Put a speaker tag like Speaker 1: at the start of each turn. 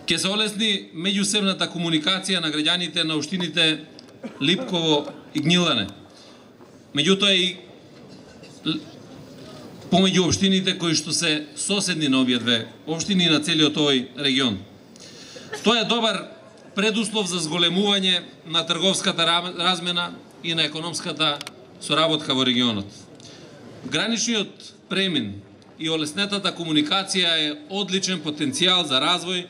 Speaker 1: Ќе се олесни меѓусебната комуникација на граѓаните на општините Липково и Гнилане. Меѓутоа и помеѓу општините кои што се соседни на овие две општини на целиот овој регион. Тоа е добар предуслов за зголемување на трговската размена и на економската соработка во регионот. Граничниот премин и олеснетата комуникација е одличен потенцијал за развој